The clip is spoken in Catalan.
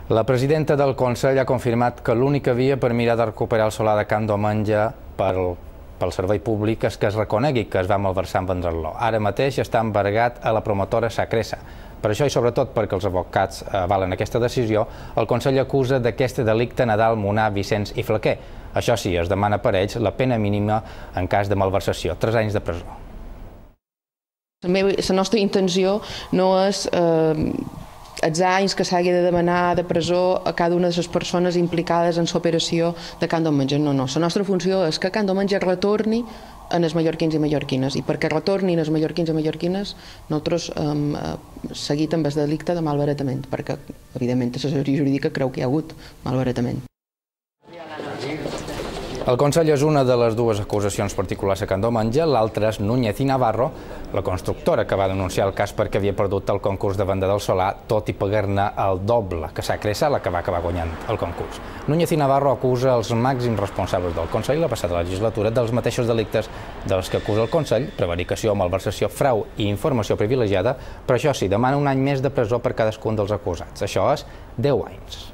La presidenta del Consell ha confirmat que l'única via per mirar de recuperar el solar de Can Domenge pel servei públic és que es reconegui que es va malversar en vendre-lo. Ara mateix està embargat a la promotora Sacresa. Per això i sobretot perquè els advocats avalen aquesta decisió, el Consell acusa d'aquest delicte Nadal, Munar, Vicenç i Flaquer. Això sí, es demana per ells la pena mínima en cas de malversació, 3 anys de presó. La nostra intenció no és els anys que s'hagi de demanar de presó a cada una de les persones implicades en l'operació de Can Domenge. No. La nostra funció és que Can Domenge retorni als mallorquins i mallorquines, i perquè retornin els mallorquins i mallorquines nosaltres hem seguit amb el delicte de malbaratament, perquè evidentment l'assessoria jurídica creu que hi ha hagut malbaratament. El Consell és una de les dues acusacions particulars a Can Domenge, l'altra és Núñez i Navarro, la constructora que va denunciar el cas perquè havia perdut el concurs de venda del solar, tot i pagar-ne el doble que Sacresa, la que va acabar guanyant el concurs. Núñez i Navarro acusa els màxims responsables del Consell la passada legislatura dels mateixos delictes dels que acusa el Consell, prevaricació, malversació, frau i informació privilegiada, però això sí, demana un any més de presó per cadascun dels acusats. Això és 10 anys.